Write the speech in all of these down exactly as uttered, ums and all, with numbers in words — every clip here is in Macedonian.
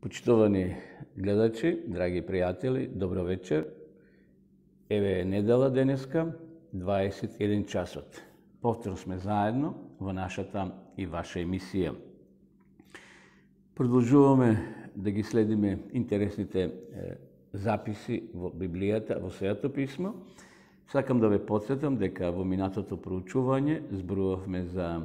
Почитувани гледачи, драги пријатели, добро вечер. Еве е недела денеска, дваесет и еден часот. Повторно сме заедно во нашата и ваша емисија. Продолжуваме да ги следиме интересните е, записи во Библијата, во Светото писмо. Сакам да ве потсетам дека во минатото проучување зборувавме за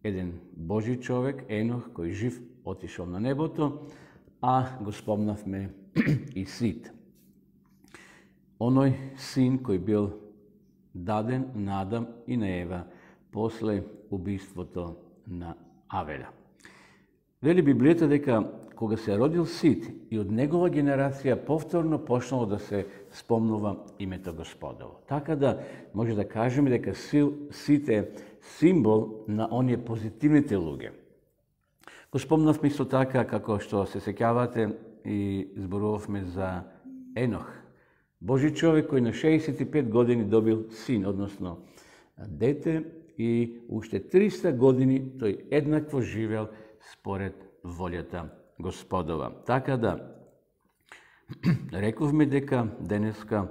еден Божи човек, Енох, кој жив отишол на небото, а го спомнавме и Сит. Оној син кој бил даден на Адам и на Ева после убиството на Авеля. Вели Библијата дека кога се родил Сит и од негова генерација повторно почнало да се спомнува името Господово. Така да може да кажеме дека Сит е символ на оние позитивните луѓе. Го спомнавме исто така како што се сеќавате и зборувавме за Енох. Божи човек кој на шеесет и пет години добил син, односно дете, и уште триста години тој еднакво живел според волјата Господова. Така да рековме дека денеска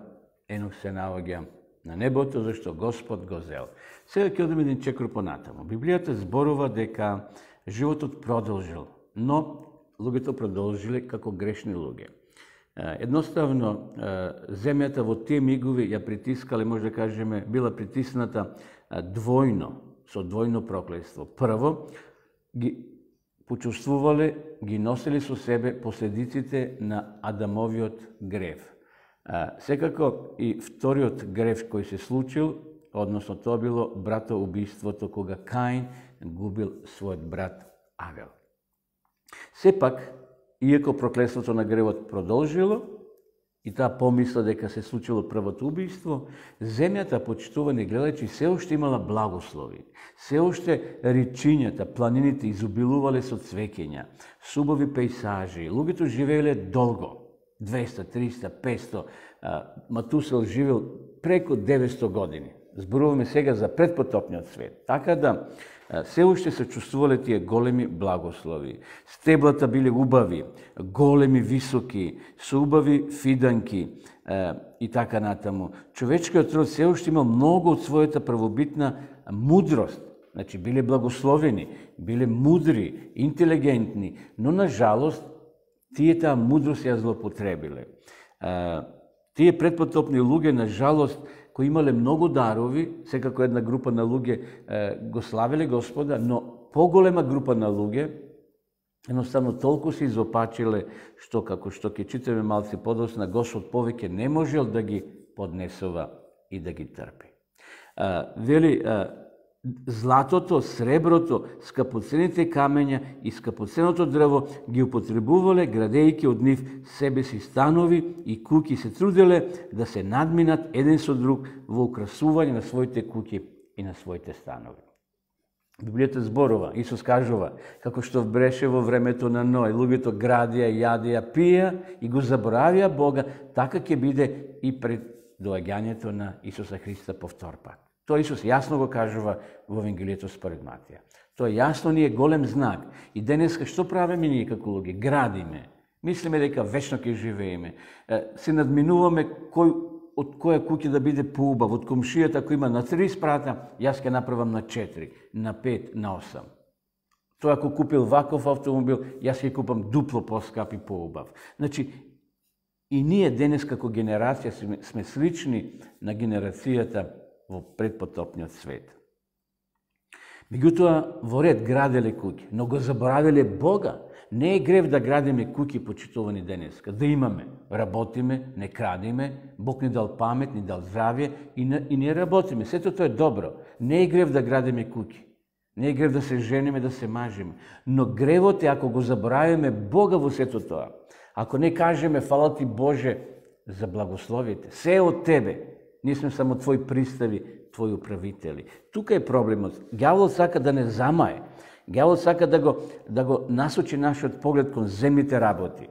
Енох се наоѓа на небото, зашто Господ го зел. Сега ќе одиме еден чекор понатаму. Библијата зборува дека животот продолжил, но луѓето продолжиле како грешни луѓе. Едноставно, земјата во тие мигови ја притискале, може да кажеме, била притисната двојно, со двојно проклество. Прво, ги почувствувале, ги носели со себе последиците на Адамовиот грев. Секако и вториот грев кој се случил, односно тоа било братоубиството, кога Каин губил својот брат Авел. Сепак, иако проклетството на гревот продолжило, и таа помисла дека се случило првото убиство, земјата, почитувани гледачи, се уште имала благослови. Се уште речињата, планините изобилувале со цвеќења, субави пејсажи, луѓето живееле долго, двеста, триста, петсто, Матусел живел преку деветсто години. Зборуваме сега за предпотопниот свет. Така да се уште се чувствувале тие големи благослови. Стеблата биле убави, големи, високи, со убави фиданки е, и така натаму. Човечкиот род се уште имал многу од својата првобитна мудрост. Значи, биле благословени, биле мудри, интелигентни, но на жалост тие таа мудрост ја злоупотребиле. Е, тие предпотопни луѓе, на жалост, кои имале многу дарови, секако една група на луѓе е, го славеле Господа, но поголема група на луѓе едноставно толку се изопачиле, што како што ќе читаме малце подоцна, Господ повеќе не можел да ги поднесува и да ги трпи. А, вели, а, златото, среброто, скапоцените камења и скапоценото дрво ги употребувале, градејќи од нив себе си станови и куќи, се труделе да се надминат еден со друг во украсување на своите куќи и на своите станови. Библијата зборува, Исус кажува, како што бреше во времето на Ној, луѓето градија, јадија, пија и го заборавија Бога, така ќе биде и пред доаѓањето на Исуса Христа повтор пат. Тоа Исус јасно го кажува во Евангелието според Матија. Тоа јасно ни е голем знак. И денеска што правиме ние како луѓе? Градиме. Мислиме дека вечно ќе живееме. Се надминуваме кој од која куќа да биде поубав, од комшијата кој има на три спрата, јас ќе направам на четири, на пет, на осам. Тој ако купил ваков автомобил, јас ќе купам дупло поскап и поубав. Значи, и ние денес како генерација сме, сме слични на генерацијата во предпотопниот свет. Меѓутоа, во ред граделе куќи, но го заборавиле Бога. Не е грев да градиме куќи, почитувани денеска, да имаме, работиме, не крадиме, Бог ни дал памет, ни дал здравје и не, и не работиме. Сето тоа е добро. Не е грев да градиме куќи. Не е грев да се жениме, да се мажиме. Но гревот е ако го заборавиме Бога во сето тоа. Ако не кажеме фала ти Боже за благословите, се е од тебе. Ние сме само твои пристави, твои управители. Тука е проблемот. Ѓаволот сака да не замае. Ѓаволот сака да го, да го насочи нашиот поглед кон земните работи.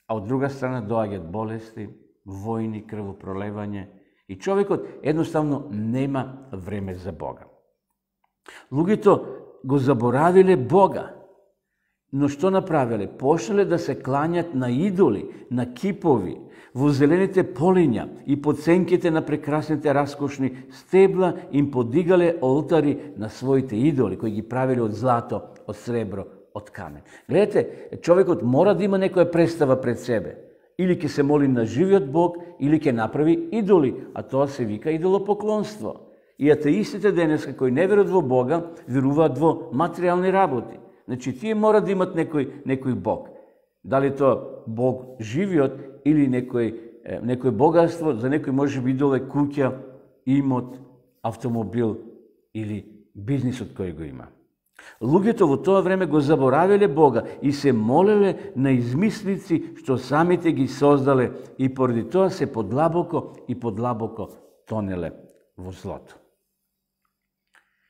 А од друга страна доаѓаат болести, војни, крвопролевање и човекот едноставно нема време за Бога. Луѓето го заборавиле Бога. Но што направиле? Почнале да се кланјат на идоли, на кипови, во зелените полиња и под сенките на прекрасните раскошни стебла им подигале олтари на своите идоли, кои ги правиле од злато, од сребро, од камен. Гледате, човекот мора да има некоја представа пред себе. Или ќе се моли на живиот Бог, или ќе направи идоли, а тоа се вика идолопоклонство. И атеистите денеска кои не веруваат во Бога, веруваат во материјални работи. Значи, тие мора да имат некој, некој Бог. Дали тоа Бог живиот или некој, некој богатство, за некој може би идол е куќа, имот, автомобил или бизнисот кој го има. Луѓето во тоа време го заборавиле Бога и се молеле на измислици што самите ги создале и поради тоа се подлабоко и подлабоко тонеле во злото.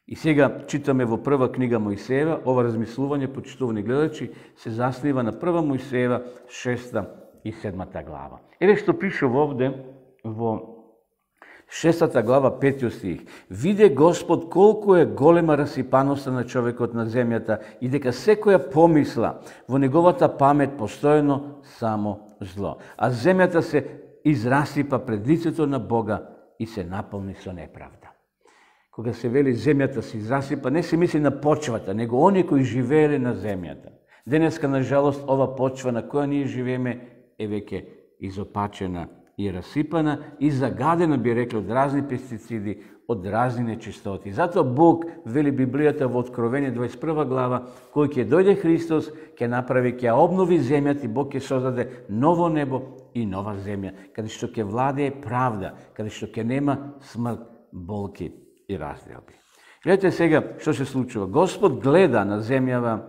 И сега читаме во прва книга Мојсеева, ова размислување, почитувани гледачи, се заснива на прва Мојсеева, шеста и седмата глава. Еве што пише вовде во шестата глава, петиот стих. Виде Господ колку е голема расипаноста на човекот на земјата и дека секоја помисла во неговата памет постојано само зло. А земјата се израсипа пред лицето на Бога и се наполни со неправда. Кога се вели земјата се израсипа, не се мисли на почвата, него оние кои живееле на земјата. Денеска, на жалост, ова почва на која ние живееме е веќе изопачена и расипана и загадена, би рекли, од разни пестициди, од разни нечистоти. Затоа Бог, вели Библијата во Откровение дваесет и прва глава, кој ќе дојде Христос, ќе направи, ќе обнови земјата и Бог ќе создаде ново небо и нова земја, каде што ќе владее правда, каде што ќе нема смрт, болки и разделби. Гледате сега што се случува. Господ гледа на земјава,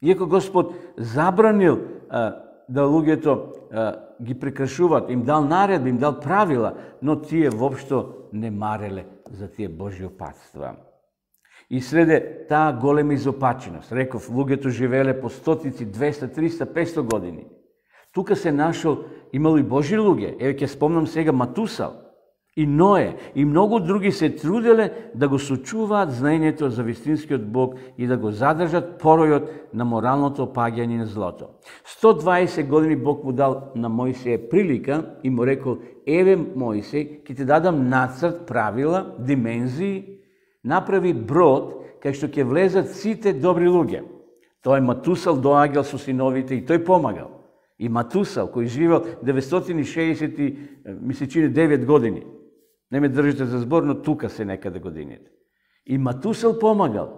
иако Господ забранил а, да луѓето а, ги прекршуваат, им дал наредби, им дал правила, но тие воопшто не мареле за тие Божји опатства. И среде таа голема изопаченост, реков, луѓето живееле по стотици, двеста, триста, петсто години. Тука се нашол, имало и Божји луѓе. Еве ќе спомнам сега Матусал, и Ное, и многу други се труделе да го сочуваат знаењето за вистинскиот Бог и да го задржат поројот на моралното опаѓање на злото. сто дваесет години Бог му дал на Мојсија прилика и му рекол, еве Мојсија, ќе ти дадам нацрт, правила, димензии, направи брод кај што ќе влезат сите добри луѓе. Тој Матусал доаѓал со синовите и тој помагал. И Матусал, кој живел деветстотини и шеесет, ми се чини девет години. Не ме држите за збор, но тука се некаде годините. И Матусал помагал.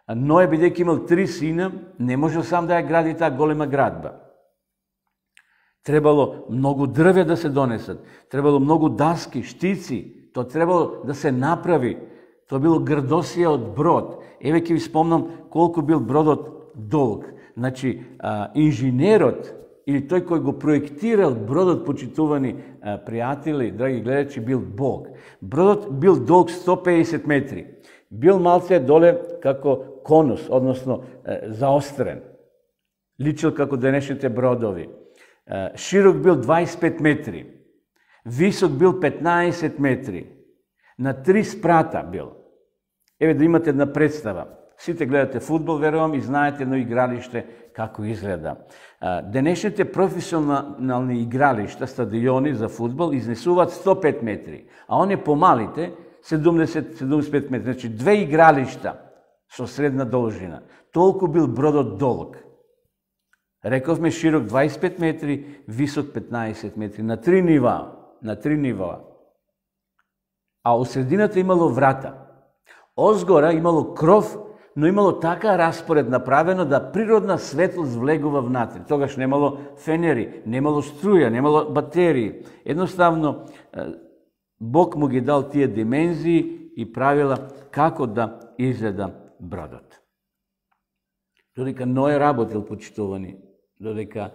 А Ное, бидејќи имал три сина, не можел сам да ја гради таа голема градба. Требало многу дрве да се донесат, требало многу даски, штици, то требало да се направи. Тоа било грдосија од брод. Еве ќе ви спомнам колку бил бродот долг. Значи, а, инженерот, или тој кој го проектирал бродот, почитувани а, пријатели, драги гледачи, бил Бог. Бродот бил долг сто педесет метри. Бил малце доле како конус, односно е, заострен. Личил како денешните бродови. Е, широк бил дваесет и пет метри. Висок бил петнаесет метри. На три спрата бил. Еве да имате една представа. Сите гледате фудбал, верувам, и знаете едно игралиште како изгледа. Денешните професионални игралишта, стадиони за фудбал, изнесуваат сто и пет метри, а оние помалите седумдесет до седумдесет и пет метри. Значи, две игралишта со средна должина. Толку бил бродот долг. Рековме широк дваесет и пет метри, висок петнаесет метри, на три нива, на три нива. А од средината имало врата. Озгора имало кров, но имало така распоред направено да природна светлост влегува внатре. Тогаш немало фенери, немало струја, немало батерии. Едноставно, Бог му ги дал тие димензии и правила како да изгледа бродот. Додека Ное работил, почитувани, додека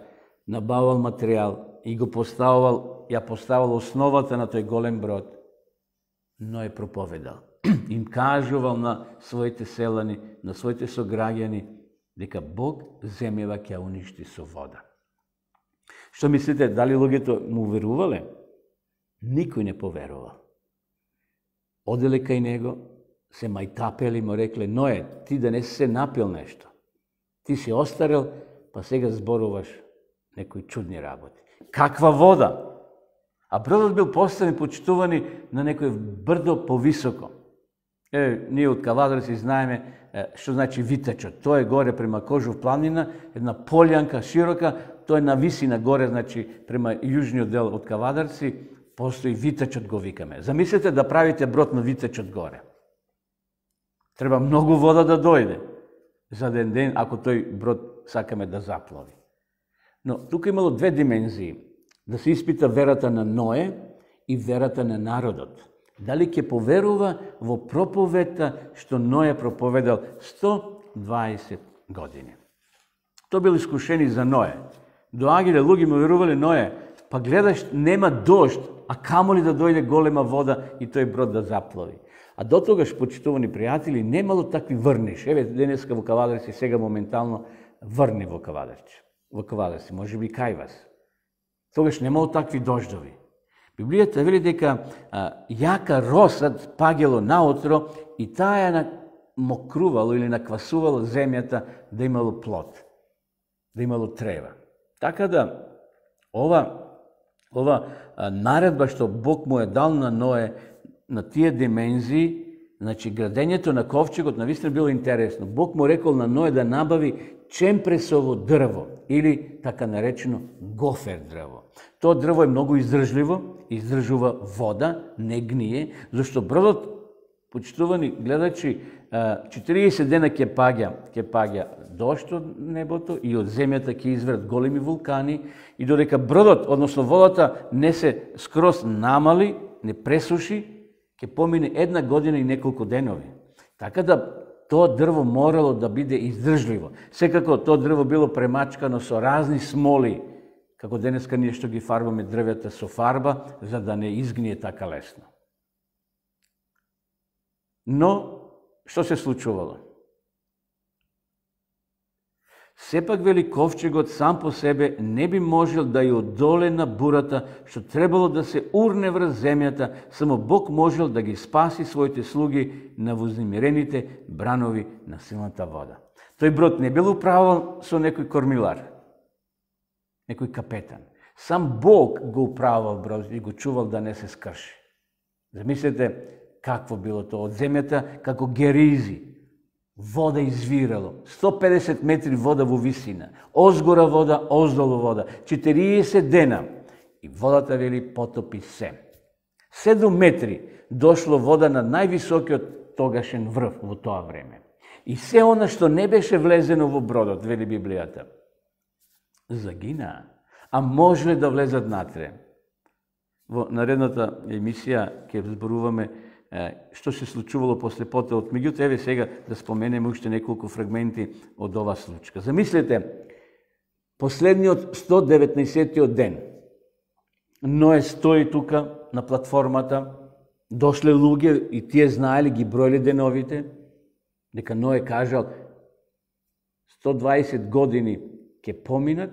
набавал материјал и го поставувал, ја поставал основата на тој голем брод, Ное проповедал. Им кажувал на своите селани, на своите сограѓани, дека Бог земјава ќе уништи со вода. Што мислите, дали луѓето му верувале? Никој не поверувал. Оделе кај него, се мајтапели, му рекле, Ное, ти да не си се напил нешто. Ти си остарел, па сега зборуваш некои чудни работи. Каква вода? А бродот бил поставен, почитувани на некој брдо повисоко. Е, ние од Кавадарци знаеме е, што значи витечот. Тоа е горе према Кожув планина, една полјанка широка, тоа е на висина горе, значи према јужниот дел од Кавадарци, постои витечот го викаме. Замислете да правите брод на витечот горе. Треба многу вода да дојде за ден ден, ако тој брод сакаме да заплови. Но тука имало две димензии. Да се испита верата на Ное и верата на народот. Дали ќе поверува во проповедта што Ное проповедал сто дваесет години. Тоа бил искушени за Ное. Доаѓале луѓе му верувале Ное, па гледаш нема дожд, а камоли да дојде голема вода и тој брод да заплови. А до тогаш, почитувани пријатели, немало такви врниш. Еве денеска во Кавадарци, сега моментално врни во Кавадарци. Во Кавадарци, може би кај вас. Тогаш немало такви дождови. Библијата вели дека а, јака росат пагело наутро и таа ја мокрувало или наквасувало земјата да имало плод, да имало трева. Така да, ова, ова а, наредба што Бог му е дал на Ное, на тие димензии, значи градењето на ковчегот навистина било интересно. Бог му рекол на Ное да набави чемпресово дрво или така наречено гофер дрво. Тоа дрво е многу издржливо, издржува вода, не гние, зашто бродот, почитувани гледачи, четириесет дена ќе паѓа, ќе паѓа дожд од небото и од земјата ќе изврат големи вулкани и додека бродот, односно водата, не се скроз намали, не пресуши, ќе помине една година и неколку денови. Така да тоа дрво морало да биде издржливо. Секако тоа дрво било премачкано со разни смоли, како денеска ние што ги фарбаме дрвета со фарба, за да не изгние така лесно. Но, што се случувало? Сепак, вели, ковчегот сам по себе не би можел да ја одоле на бурата, што требало да се урне врз земјата, само Бог можел да ги спаси своите слуги на вознемирените бранови на силната вода. Тој брод не бил управуван со некој кормилар, некој капетан. Сам Бог го управувал брод и го чувал да не се скрши. Замислете какво било тоа од земјата, како геризи. Вода извирало, сто педесет метри вода во висина, озгора вода, оздолу вода, четириесет дена. И водата, вели, потопи се. седум метри дошло вода на највисокиот тогашен врв во тоа време. И се она што не беше влезено во бродот, вели Библијата, загина, а можеле да влезат натре. Во наредната емисија ќе зборуваме што се случувало после пота од меѓуто, еве сега да споменеме уште неколку фрагменти од ова случка. Замислете, последниот сто деветнаесеттиот ден, Ное стои тука на платформата, дошле луѓе и тие знаели, ги бројле деновите, дека Ное кажал сто дваесет години ќе поминат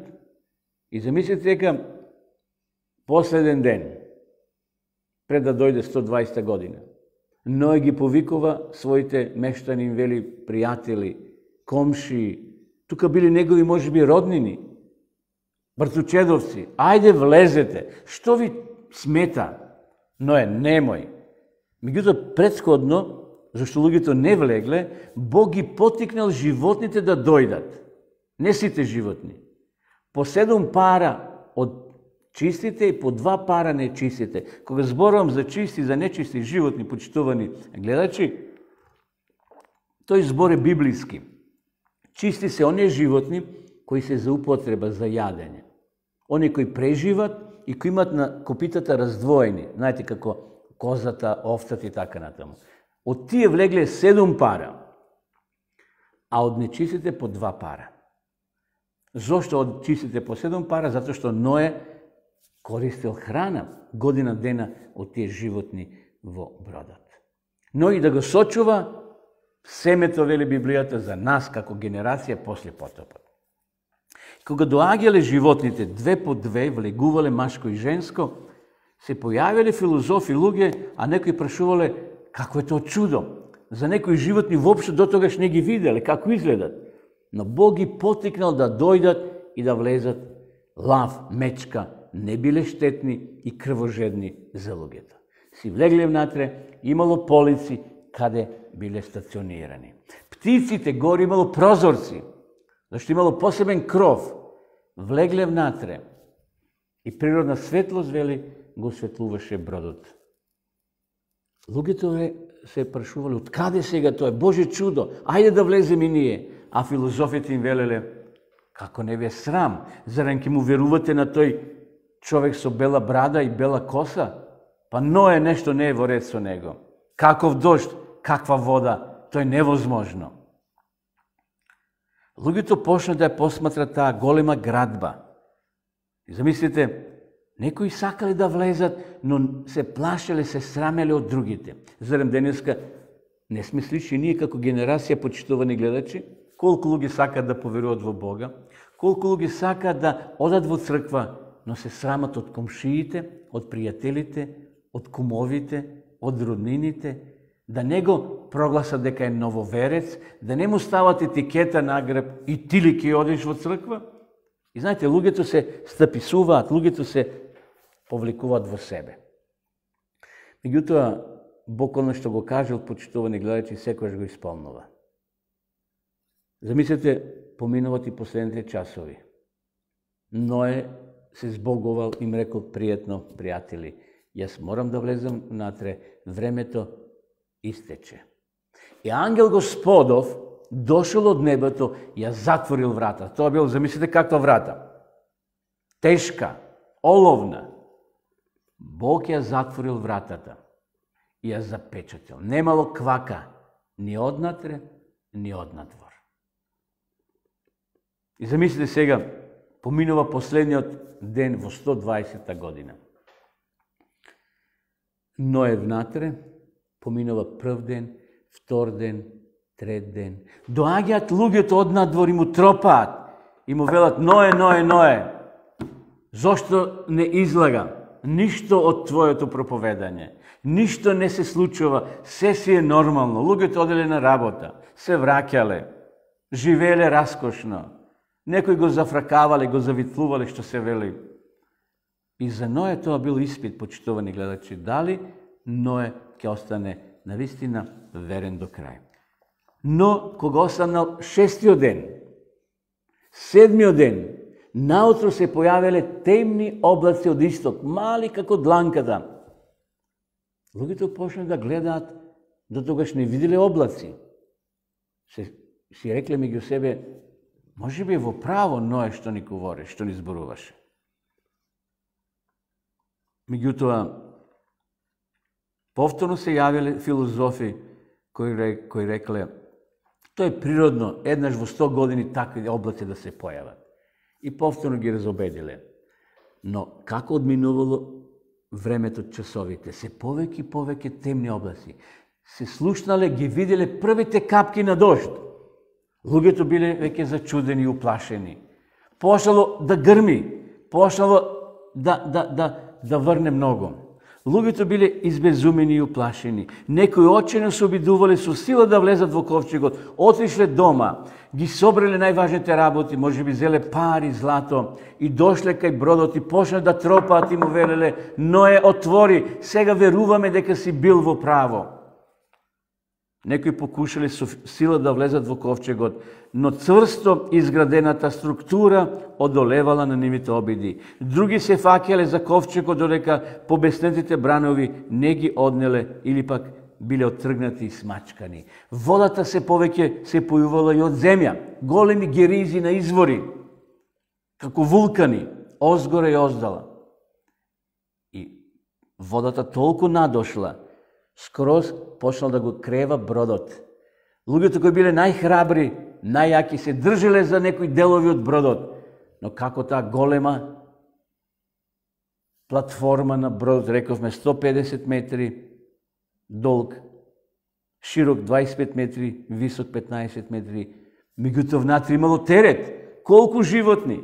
и замислете дека последен ден, пред да дојде сто дваесета година, Ное ги повикува своите мештани, им вели пријатели, комши, тука били негови можеби роднини, брцучедовци, ајде влезете, што ви смета? Ное, немој. Меѓутоа, претходно, зашто луѓето не влегле, Бог ги потикнал животните да дојдат. Не сите животни. По седум пара од чистите и по два пара нечистите. Кога зборувам за чисти и за нечисти животни, почитувани гледачи, тој збор е библиски. Чисти се оние животни кои се за употреба, за јадење. Они кои преживат и кои имат на копитата раздвоени. Знаете како козата, овцата и така натаму. Од тие влегле седум пара, а од нечистите по два пара. Зошто од чистите по седум пара? Затоа што Ное користел храна година дена од тие животни во бродот. Но и да го сочува семето, вели Библијата, за нас како генерација после потопот. Кога доаѓале животните две по две, влегувале машко и женско, се појавиле филозофи луѓе, а некои прашувале како е тоа чудо. За некои животни воопшто дотогаш не ги виделе, како изгледат. Но Бог ги потикнал да дојдат и да влезат. Лав, мечка не биле штетни и крвожедни за луѓето. Си влегле внатре, имало полици каде биле стационирани. Птиците горе имало прозорци, зашто имало посебен кров. Влегле внатре и природна светлост, вели, го осветлуваше бродот. Луѓето се прашувале, од каде сега тоа е Божје чудо, ајде да влеземе и ние. А филозофите им велеле, како не ве срам, зарем ќе му верувате на тој човек со бела брада и бела коса? Па Ное нешто не е во ред со него. Каков дожд, каква вода, тоа е невозможно. Луѓето почна да ја посматрат таа голема градба. И замислите, некои сакале да влезат, но се плашеле, се срамеле од другите. Зарем денеска не сме слични ние како генерација почитувани гледачи? Колку луѓе сакаат да поверуваат во Бога, колку луѓе сакаат да одат во црква, но се срамат од комшиите, од пријателите, од кумовите, од роднините, да не го прогласат дека е нововерец, да не му стават етикета на грб и ти ли ќе одиш во црква? И знаете, луѓето се стаписуваат, луѓето се повлекуваат во себе. Меѓутоа, Бог оно што го кажал, почитувани гледачи, секојаш го исполнува. Замислете, поминуват и последните часови. Ное се збогувал, им рекол пријатно, пријатели, јас морам да влезам внатре, времето истече. И ангел Господов дошол од небото и ја затворил врата. Тоа бил, замислите, каква врата? Тешка, оловна. Бог ја затворил вратата и ја запечатил. Немало квака ни однатре, ни однадвор. И замислите сега, поминува последниот ден во сто дваесетта година. Ное внатре, поминува прв ден, втор ден, трет ден. Доаѓаат луѓето од надвор и му тропаат и му велат: Ное, Ное, Ное, зошто не излага? Ништо од твоето проповедање. Ништо не се случува, се си е нормално. Луѓето оделе на работа, се враќале, живееле раскошно. Некои го зафракавале, го завитлувале, што се вели. И за Ное тоа бил испит, почитувани гледачи, дали Ное ќе остане навистина верен до крај. Но кога останал шестиот ден, седмиот ден, наутро се појавиле темни облаци од исток, мали како дланката. Луѓето почнаа да гледаат, до тогаш не виделе облаци. Се, си рекле меѓу себе, може би во право Ное што ни говори, што ни зборуваше. Меѓутоа, повторно се јавиле филозофи кои, кои рекле, тоа е природно, еднаш во сто години такви облаци да се појават. И повторно ги разобедиле. Но како одминувало времето, часовите, се повеќе и повеќе темни облаци. Се слушнале, ги виделе првите капки на дожд. Луѓето биле веќе зачудени и уплашени. Почнало да грми, почнало да, да, да, да врне многу. Луѓето биле избезумени и уплашени. Некои очено се обидувале со сила да влезат во ковчегот, отишле дома, ги собрале најважните работи, може би зеле пари, злато, и дошле кај бродот и почнале да тропаат и му велеле: Ное, отвори, сега веруваме дека си бил во право. Некои покушале со сила да влезат во ковчегот, но цврсто изградената структура одолевала на нивните обиди. Други се фаќале за ковчегот додека побеснетите бранови не ги однеле или пак биле оттргнати и смачкани. Водата се повеќе се појувала и од земја, големи геризи на извори, како вулкани, озгоре и оздала. И водата толку надошла, скроз почнал да го крева бродот. Луѓето кои биле најхрабри, најјаки, се држеле за некои делови од бродот, но како таа голема платформа на бродот, рековме сто педесет метри долг, широк дваесет и пет метри, висок петнаесет метри, меѓутоа внатре имало терет. Колку животни?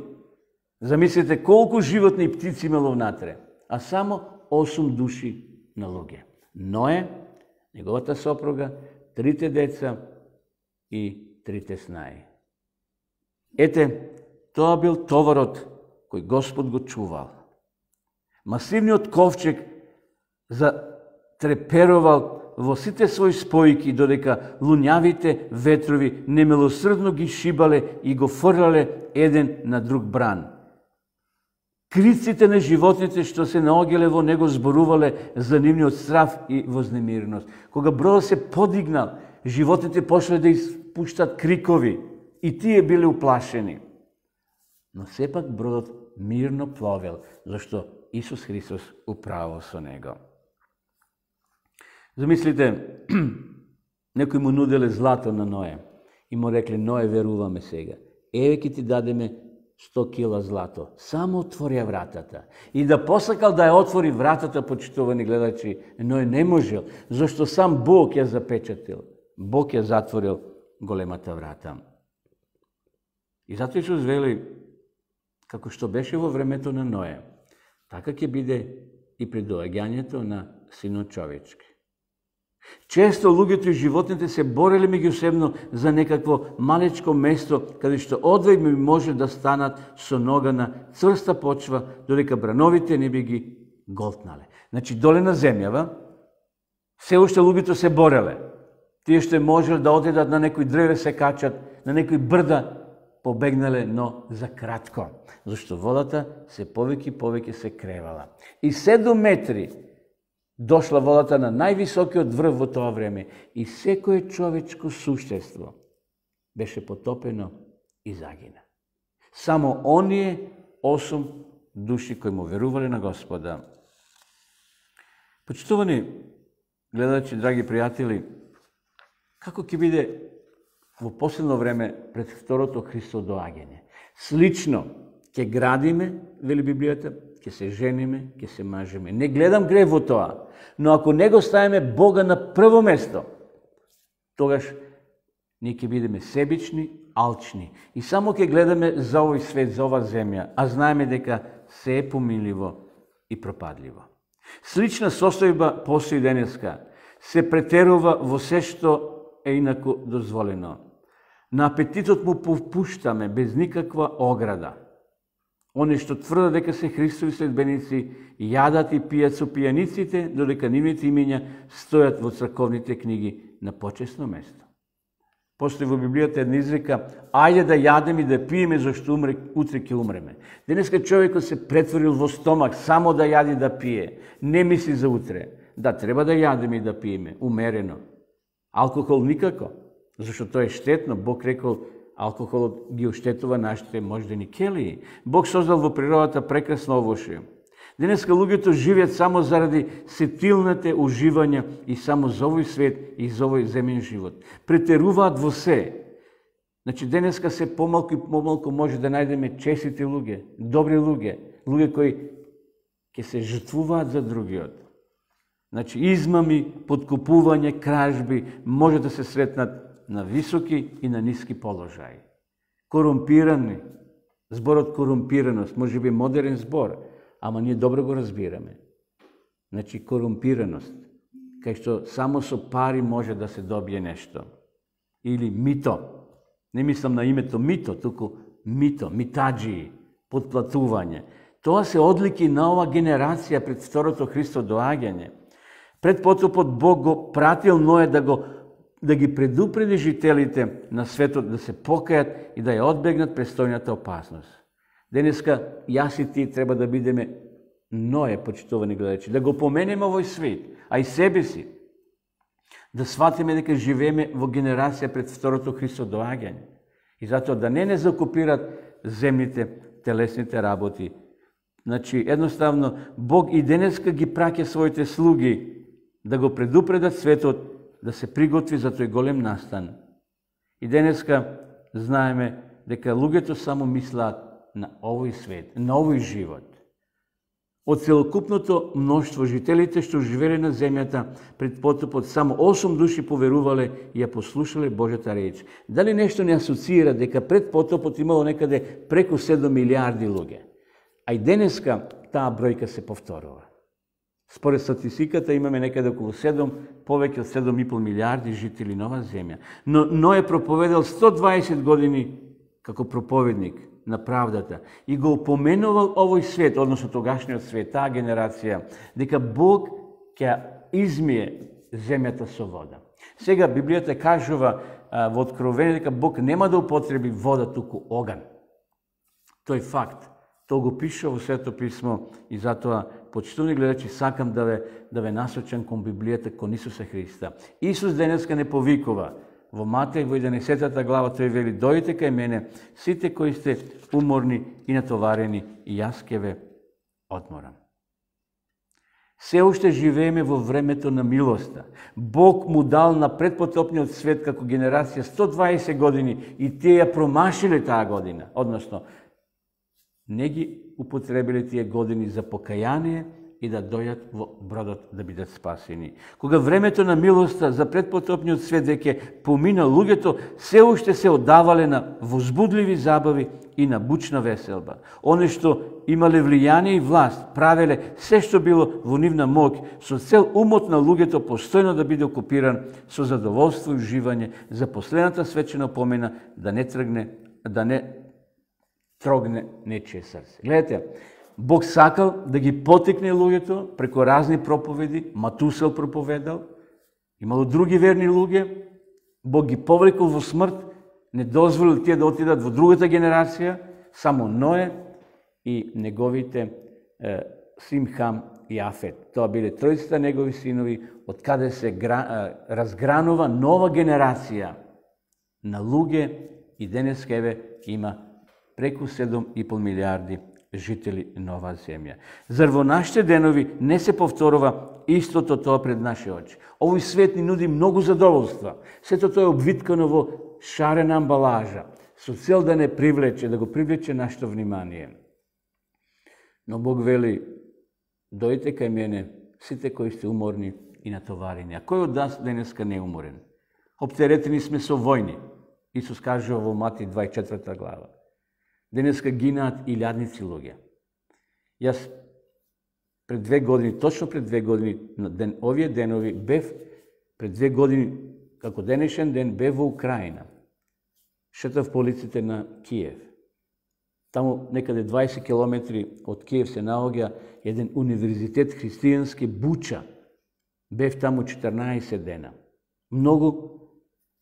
Замислете колку животни и птици имало внатре, а само осум души на луѓе. Ное, неговата сопруга, трите деца и трите снаи. Ете, тоа бил товарот кој Господ го чувал. Масивниот ковчег затреперувал во сите своји спојки, додека луњавите ветрови немилосрдно ги шибале и го фрлале еден на друг бран. Криците на животните што се наоѓале во него зборувале за нивниот страв и вознемиреност. Кога бродот се подигнал, животните почнале да испуштат крикови и тие биле уплашени. Но сепак бродот мирно пловел, зашто Исус Христос управил со него. Замислите, некои му нуделе злато на Ное и му рекле: Ное, веруваме сега. Еве ќе ти дадеме сто кила злато. Само отвори вратата. И да посакал да ја отвори вратата, почитувани гледачи, Ное не можел, зашто сам Бог ја запечатил. Бог ја затворил големата врата. И затоа Исус вели, како што беше во времето на Ное, така ќе биде и при доаѓањето на Синот човечки. Често луѓето и животните се бореле меѓусебно за некакво малечко место каде што одвај може да станат со нога на цврста почва, додека брановите не би ги голтнале. Значи, доле на земјава, се уште луѓето се бореле. Тие што можеле да одедат на некој дрве се качат, на некој брда побегнале, но за кратко, зашто водата се повеќе и повеќе се кревала. И седум метри дошла водата на највисокиот врв во тоа време и секое човечко суштество беше потопено и загина. Само оние осум души кои му верувале на Господа. Почитувани гледачи, драги пријатели, како ќе биде во последно време пред второто Христово доаѓање? Слично ќе градиме, вели Библијата, ќе се жениме, ќе се мажеме. Не гледам грев во тоа, но ако не го ставиме Бога на прво место, тогаш ние ќе бидеме себични, алчни и само ќе гледаме за овој свет, за оваа земја, а знаеме дека се е помиливо и пропадливо. Слична состојба постои денеска. Се претерува во се што е инаку дозволено. На апетитот му попуштаме без никаква ограда. Они што тврдат дека се Христови следбеници, јадат и пијат со пијаниците, додека нивните имења стојат во црковните книги на почесно место. Постои во Библијата една изрека: ајде да јадеме и да пиеме, зашто умре, утре ќе умреме. Денеска човекот се претворил во стомак само да јади да пие, не мисли за утре. Да, треба да јадеме и да пиеме, умерено. Алкохол никако, зашто тоа е штетно. Бог рекол, алкохолот ги оштетува нашите мождени келии. Бог создал во природата прекрасно овошје. Денеска луѓето живеат само заради сетилните уживања и само за овој свет и за овој земен живот. Претеруваат во се. Значи, денеска се помалку и помалку може да најдеме честити луѓе, добри луѓе, луѓе кои ќе се жртвуваат за другиот. Значи, измами, подкупување, кражби може да се сретнат на високи и на ниски положаи. Корумпирани, зборот корумпираност, може би модерен збор, ама ние добро го разбираме. Значи, корумпираност, кај што само со пари може да се добие нешто. Или мито, не мислам на името мито, туку мито, митаджии, подплатување. Тоа се одлики на ова генерација пред второто Христово доаѓање. Пред потопот Бог го пратил Ное да го да ги предупреди жителите на светот да се покајат и да ја одбегнат престојната опасност. Денеска јас и ти треба да бидеме Ное, почитувани гледачи, да го поменеме овој свет, а и себе си, да сватиме дека живееме во генерација пред второто Христово доаѓање и затоа да не не закупират земните, телесните работи. Значи, едноставно, Бог и денеска ги праќа своите слуги да го предупредат светот да се приготви за тој голем настан. И денеска знаеме дека луѓето само мислат на овој свет, на овој живот. Од целокупното мноштво жителите што живееле на земјата пред потопот, само осум души поверувале и ја послушале Божјата реч. Дали нешто не асоцира дека пред потопот имало некаде преку седум милиарди луѓе? А и денеска таа бројка се повторува. Според статистиката имаме некаде околу седум, повеќе од седум и пол милиарди жители на оваа земја. Но Ное проповедал сто дваесет години како проповедник на правдата и го упоменувал овој свет, односно тогашниот свет, таа генерација, дека Бог ќе измие земјата со вода. Сега Библијата кажува а, во Откровение дека Бог нема да употреби вода, туку оган. Тој факт. Тоа го пише во Свето писмо и затоа, почитувани гледачи, сакам да ве, да ве насочам кон Библијата, кон Исуса Христа. Исус денеска не повикува. Во Матеј, во единаесеттата глава, тој вели: дојдете кај мене, сите кои сте уморни и натоварени, и јас ќе ве одморам. Се уште живееме во времето на милоста. Бог му дал на предпотопниот свет како генерација сто дваесет години и тие ја промашиле таа година. Односно, не ги употребиле тие години за покаяние и да дојдат во бродот да бидат спасени. Кога времето на милоста за предпотопниот свет веќе помина, луѓето се уште се оддавале на возбудливи забави и на бучна веселба. Оне што имале влијание и власт, правеле се што било во нивна моќ, со цел умот на луѓето постојно да биде окупиран со задоволство и уживање за последната свечена помена да не тргне, да не трогне нечие срце. Гледате, Бог сакал да ги потикне луѓето преку разни проповеди. Матусел проповедал, имало други верни луѓе, Бог ги повлекол во смрт, не дозволил тие да отидат во другата генерација, само Ное и неговите е, син Хам и Афет. Тоа биле тројцата негови синови, од каде се гра, е, разгранува нова генерација на луѓе и денеска еве има преку седум и пол милиарди жители на оваа земја. Зар во нашите денови не се повторува истото тоа пред наши очи? Овој свет ни нуди многу задоволства. Сето тоа е обвиткано во шарена амбалажа, со цел да не привлече, да го привлече нашето внимание. Но Бог вели: дојдете кај мене, сите кои сте уморни и натоварени. А кој од нас денеска не е уморен? Оптеретени сме со војни. Исус кажува во Матеј дваесет и четврта глава. Денеска гинаат илјадници луѓе. Јас пред две години, точно пред две години, на ден, овие денови, бев пред две години, како денешен ден, бев во Украина. Шетав по улиците на Киев. Таму некаде дваесет километри од Киев се наоѓа еден универзитет христијански, Буча. Бев таму четрнаесет дена. Многу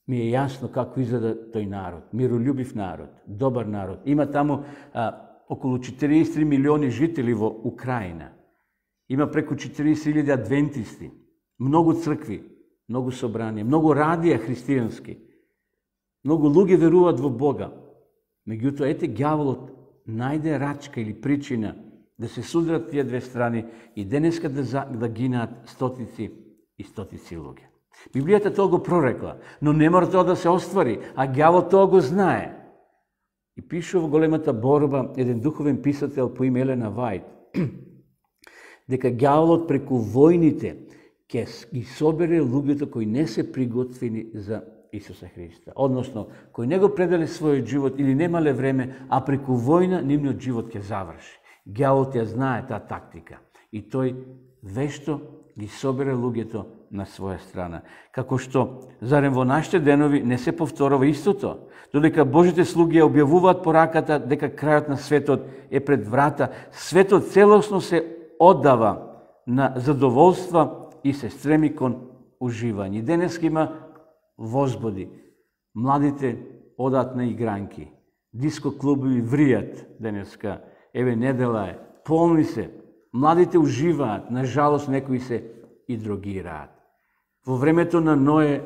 ми е јасно како изгледа тој народ, миролюбив народ, добар народ. Има таму а, околу четириесет и три милиони жители во Украина. Има преку четириесет илјади адвентисти, многу цркви, многу собранија, многу радија христијански. Многу луѓе веруваат во Бога. Меѓутоа, ете, ѓаволот најде рачка или причина да се судрат тие две страни и денеска да, за, да гинаат стотици и стотици луѓе. Библијата тоа го прорекла, но не мора тоа да се оствари, а ѓаволот тоа го знае. И пише во големата борба еден духовен писател по име Елена Вајт, дека ѓаволот преку војните ќе ги собере луѓето кои не се приготвени за Исуса Христа. Односно, кои не го пределе својот живот или немале време, а преку војна нивниот живот ќе заврши. Ѓаволот ја знае таа тактика и тој вешто ги собере луѓето на своја страна. Како што, зарем во нашите денови не се повторува истото, додека Божите слуги ја објавуваат пораката дека крајот на светот е пред врата, светот целосно се оддава на задоволства и се стреми кон уживање. Денес има возбуди. Младите одат на игранки. Диско клубови вријат денеска. Еве, недела е. Полни се. Младите уживаат. Нажалост, некои се и дрогираат. Во времето на Ное,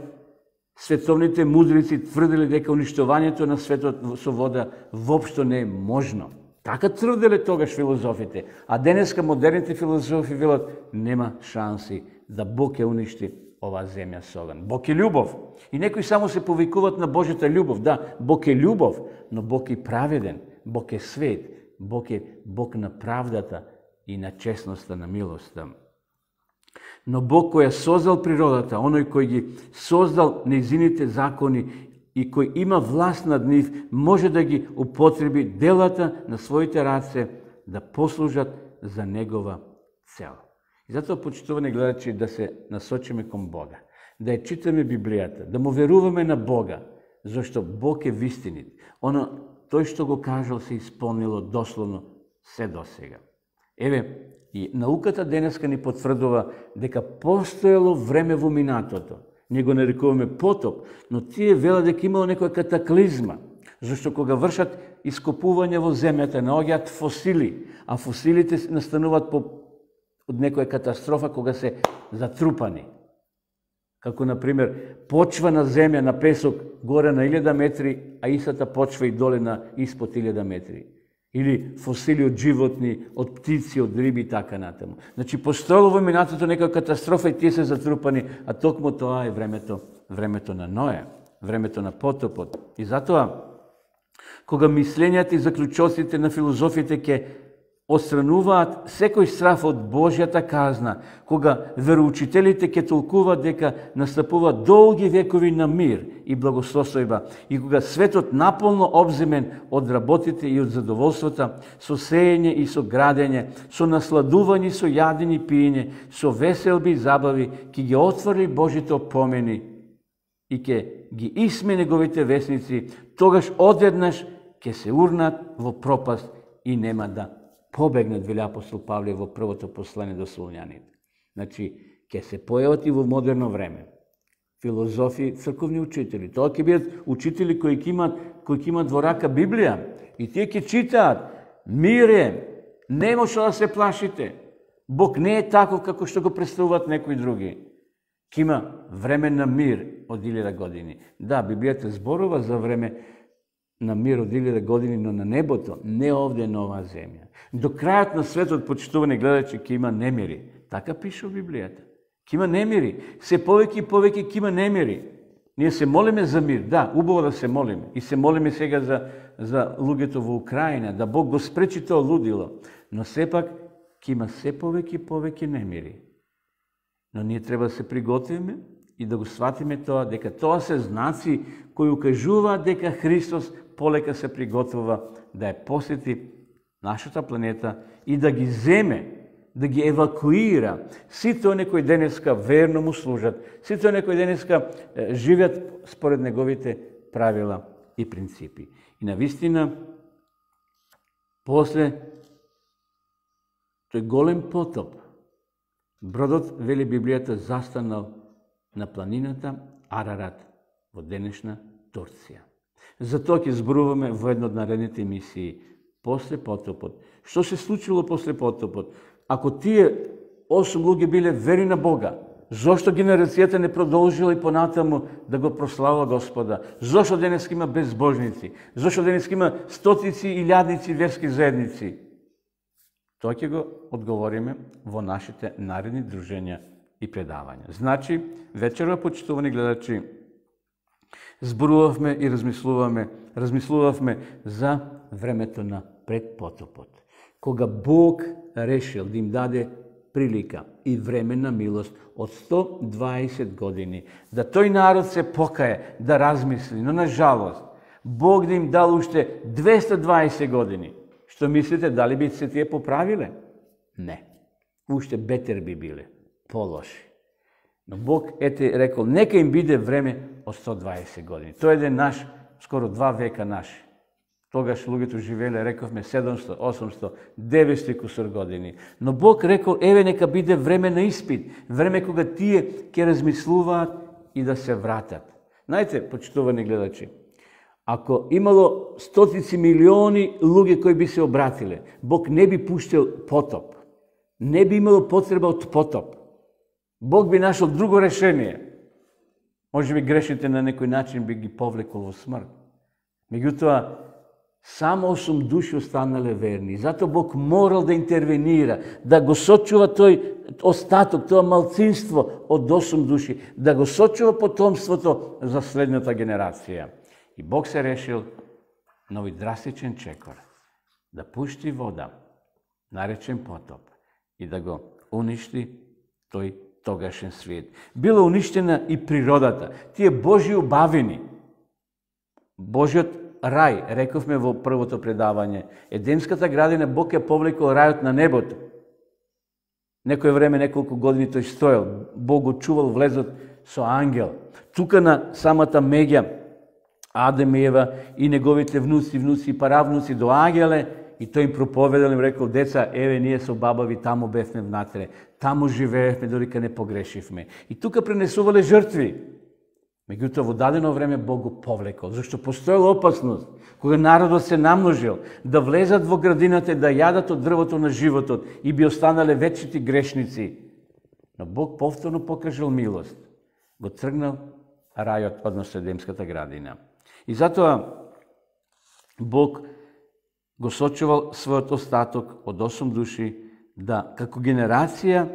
световните мудрици тврдели дека уништувањето на светот со вода воопшто не е можно. Така тврделе тогаш филозофите. А денеска модерните филозофи велат нема шанси да Бог ќе уништи оваа земја со оган. Бог е љубов. И некои само се повикуваат на Божјата љубов. Да, Бог е љубов, но Бог е праведен, Бог е свет, Бог е Бог на правдата и на честноста, на милоста. Но Бог кој ја создал природата, оној кој ги создал нејзините закони и кој има власт над нив, може да ги употреби делата на своите раце да послужат за негова цел. И затоа, почитувани гледачи, да се насочиме кон Бога, да ја читаме Библијата, да му веруваме на Бога, зашто Бог е вистинит. Оно тој што го кажал се исполнило дословно се досега. Еве, и науката денеска ни потврдува дека постоело време во минатото. Ние го нарекуваме потоп, но тие велат дека имало некоја катаклизма, зашто кога вршат ископување во земјата, наоѓаат фосили, а фосилите настануваат по од некоја катастрофа кога се затрупани. Како, например, почва на земја, на песок, горе на илјада метри, а истата почва и доле на испод илјада метри. Или фосили од животни, од птици, од риби и така натаму. Значи, постоело во минатото некоја катастрофа и тие се затрупани, а токму тоа е времето, времето на Ноја, времето на потопот. И затоа, кога мислењата и заклучоците на филозофите ќе отстрануваат секој страф од Божјата казна, кога вероучителите ќе толкуваат дека настапуваат долги векови на мир и благословство, и кога светот наполно обземен од работите и од задоволствата, со сеење и со градење, со насладување, со јадење и пиење, со веселби и забави, ќе ги отвори Божите опомени и ќе ги исме неговите весници, тогаш одеднаш ќе се урнат во пропаст и нема да побегнат, вели апостол Павле во првото послание до Солуњаните. Значи, ќе се појават и во модерно време филозофи, црковни учители. Тоа ќе бидат учители кои ќе имат, кои ќе имат во рака Библија и тие ќе читаат: мир е, нема што да се плашите. Бог не е таков како што го представуваат некои други. Ќе има време на мир од илјада години. Да, Библијата зборува за време на мир од илјада години, но на небото, не овде на оваа земја. До крајот на светот, почитувани гледачи, ќе има немири. Така пише во Библијата. Ќе има немири. Се повеќе и повеќе ќе има немири. Ние се молиме за мир. Да, убаво да се молиме. И се молиме сега за, за луѓето во Украина, да Бог го спречи тоа лудило. Но сепак ќе има се повеќе и повеќе немири. Но ние треба да се приготвиме и да го сватиме тоа, дека тоа се знаци кои укажуваат дека Христос полека се приготвува да ја посети нашата планета и да ги земе, да ги евакуира. Сите оние кои денеска верно му служат, сите оние кои денеска живеат според неговите правила и принципи. И навистина, после тој голем потоп, бродот, вели Библијата, застанал на планината Арарат во денешна Турција. Затоа ќе зборуваме во една од наредните емисии после потопот. Што се случило после потопот? Ако тие осум луѓе биле верни на Бога, зошто генерацијата не продолжила и понатаму да го прославува Господа? Зошто денес има безбожници? Зошто денес има стотици и илјадници верски заедници? Тоа ќе го одговориме во нашите наредни дружења и предавања. Значи, вечерва, почитувани гледачи, зборувавме и размислуваме, размислувавме за времето на предпотопот. Кога Бог решил да им даде прилика и време на милост од сто дваесет години, да тој народ се покае, да размисли, но на жалост, Бог да им дал уште двеста дваесет години. Што мислите, дали би се тие поправиле? Не. Уште бетер би биле, полоши. Но Бог ете рекол, нека им биде време од сто дваесет години. Тој е еден наш, скоро два века наши. Тогаш луѓето живееле, рековме, седумсто, осумсто, деветсто кусур години. Но Бог рекол, еве нека биде време на испит, време кога тие ќе размислуваат и да се вратат. Знаете, почитувани гледачи, ако имало стотици милиони луѓе кои би се обратиле, Бог не би пуштил потоп. Не би имало потреба од потоп. Бог би нашол друго решение. Може би грешните на некој начин би ги повлекол во смрт. Меѓутоа, само осум души останале верни. Зато Бог морал да интервенира, да го сочува тој остаток, тоа малцинство од осум души, да го сочува потомството за следната генерација. И Бог се решил на овој драстичен чекор да пушти вода, наречен потоп, и да го уништи тој тогашен свет. Била уништена и природата, тие Божји убавини, Божјиот рај, рековме во првото предавање, Едемската градина Бог ја повлекол рајот на небото. Некој време, неколку години тој стоел, Бог го чувал влезот со ангел. Тука на самата меѓа Адам и Ева и неговите внуци, внуци и паравнуци доаѓале и тој им проповедал, им рекол: деца, еве ние со бабави таму бевме внатре, таму живеевме додека не погрешивме. И тука пренесувале жртви. Меѓутоа во дадено време Бог го повлекол, зашто постоела опасност кога народот се намножил да влезат во градината и да јадат од дрвото на животот и би останале вечните грешници. Но Бог повторно покажал милост. Го тргнал рајот, односно Едемската градина. И затоа Бог го сочувал својот остаток од осум души да, како генерација,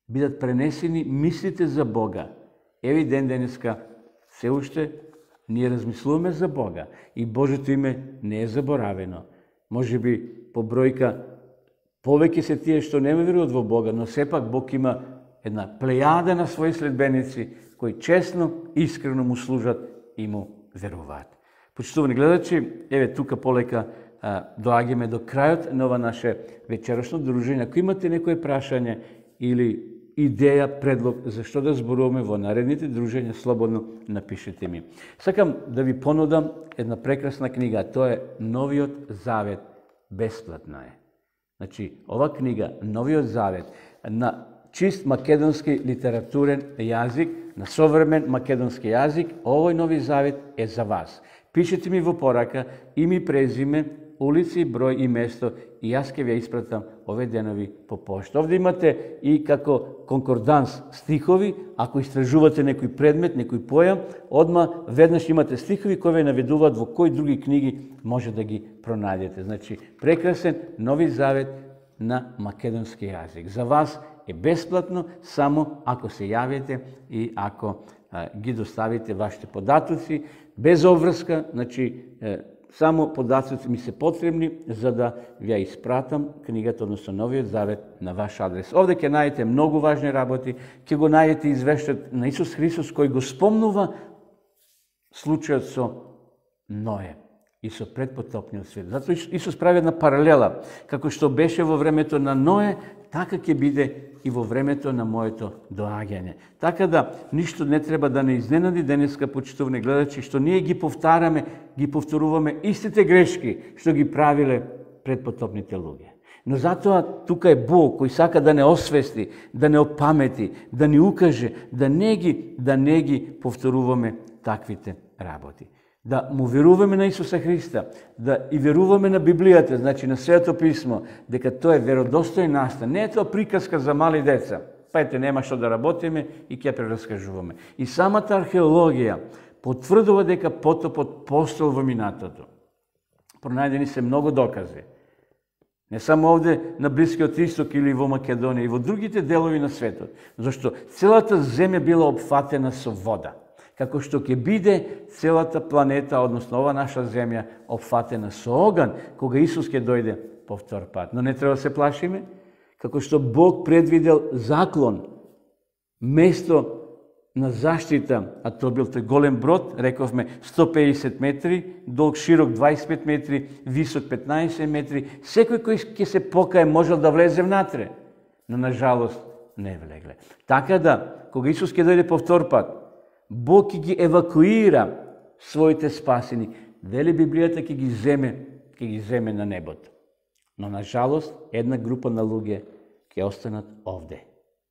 бидат пренесени мислите за Бога. Еви ден денеска се уште ние размислуваме за Бога и Божето име не е заборавено. Може би по бројка повеќе се тие што не веруваат во Бога, но сепак Бог има една плејада на своји следбеници кои честно, искрено му служат и му веруваат. Почитувани гледачи, еве тука полека а, доаѓаме до крајот на ова наше вечерашно дружење. Ако имате некое прашање или идеја, предлог за што да зборуваме во наредните дружења, слободно напишете ми. Сакам да ви понудам една прекрасна книга, тоа е Новиот Завет, бесплатно е. Значи, ова книга, Новиот Завет, на чист македонски литературен јазик, на современ македонски јазик, овој Нови Завет е за вас. Пишете ми во порака име, презиме, улици, број и место и јас ќе ви ја испратам ове денови по пошта. Овде имате и како конкорданс стихови, ако истражувате некој предмет, некој појам, одма веднаш имате стихови кои ве наведуваат во кои други книги може да ги пронајдете. Значи, прекрасен Нови Завет на македонски јазик. За вас е бесплатно, само ако се јавите и ако а, ги доставите вашите податоци, без обврска, значи, е, само податоци ми се потребни за да ви ја испратам книгата, односно Новиот Завет, на ваш адрес. Овде ќе најдете многу важни работи, ќе го најдете извештајот на Исус Христос кој го спомнува случајот со Ное и со предпотопниот свет. Затоа Исус прави една паралела, како што беше во времето на Ное, така ќе биде и во времето на моето доаѓање. Така да, ништо не треба да не изненади денеска, почитувани гледачи, што ние ги повтараме, ги повторуваме истите грешки што ги правиле предпотопните луѓе. Но затоа тука е Бог кој сака да не освести, да не опамети, да ни укаже, да не ги, да не ги повторуваме таквите работи. Да му веруваме на Исуса Христа, да и веруваме на Библијата, значи на Светото Писмо, дека тоа е веродостоен настан. Не е тоа приказка за мали деца. Пајте, нема што да работиме и ќе прераскажуваме. И самата археологија потврдува дека потопот постоел во минатото. Пронајдени се многу докази. Не само овде на Блискиот Исток или во Македонија, и во другите делови на светот. Зашто целата земја била опфатена со вода. Како што ќе биде целата планета, односно ова наша земја, опфатена со оган, кога Исус ќе дојде по втор пат. Но не треба да се плашиме, како што Бог предвидел заклон, место на заштита, а тоа бил тој голем брод, рековме сто педесет метри, долг широк дваесет и пет метри, висок петнаесет метри, секој кој ќе се покае можел да влезе внатре, но на жалост не влегле. Така да, кога Исус ќе дојде по втор пат, Бог ќе ги евакуира своите спасени. Вели Библијата ќе ги земе, ќе ги земе на небото. Но на жалост една група на луѓе ќе останат овде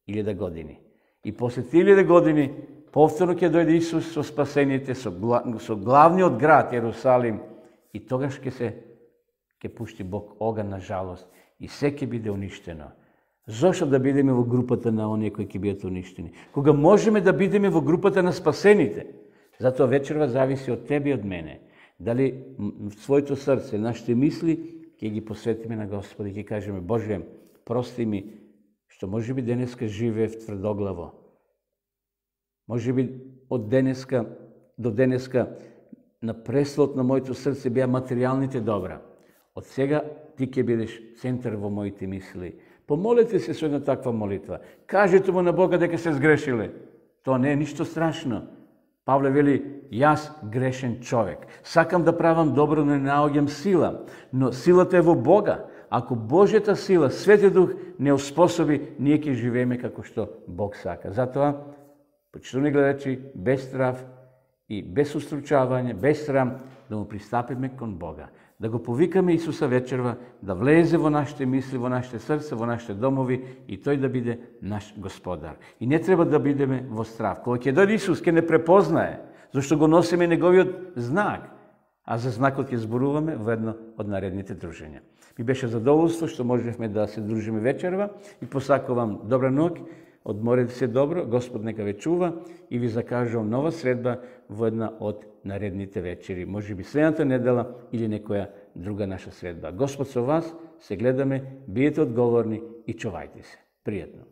илјада години. И после илјада години повторно ќе дојде Исус со спасените, со, гла, со главниот град Јерусалим, и тогаш ќе се ќе пушти Бог оган на жалост и се ќе биде уништено. Зошто да бидеме во групата на оние кои ќе бидат уништени? Кога можеме да бидеме во групата на спасените? Затоа вечерва зависи од тебе и од мене. Дали своето срце, нашите мисли ќе ги посветиме на Господа и ќе кажеме: Боже, прости ми што може би денеска живеев тврдоглаво. Може би од денеска до денеска на преслот на моето срце беа материјалните добра. Од сега ти ќе бидеш центар во моите мисли. Помолете се со една таква молитва. Кажете му на Бога дека се сгрешиле. Тоа не е ништо страшно. Павле вели: јас грешен човек. Сакам да правам добро, но не наоѓам сила. Но силата е во Бога. Ако Божјата сила, Светиот Дух не оспособи, ние ќе живееме како што Бог сака. Затоа, почитувани гледачи, без страв и без устручавање, без срам, да му пристапиме кон Бога. Да го повикаме Исуса вечерва, да влезе во нашите мисли, во нашите срца, во нашите домови и тој да биде наш Господар. И не треба да бидеме во страв. Кога ќе дојде Исус, ќе не препознае, зашто го носиме неговиот знак, а за знакот ќе зборуваме во едно од наредните дружења. Ми беше задоволство што можевме да се дружиме вечерва и посакувам добра ноќ, одморете се добро, Господ нека ве чува и ви закажувам нова средба во една од наредните вечери. Може би следната недела или некоја друга наша средба. Господ со вас, се гледаме, биете одговорни и чувајте се. Пријатно.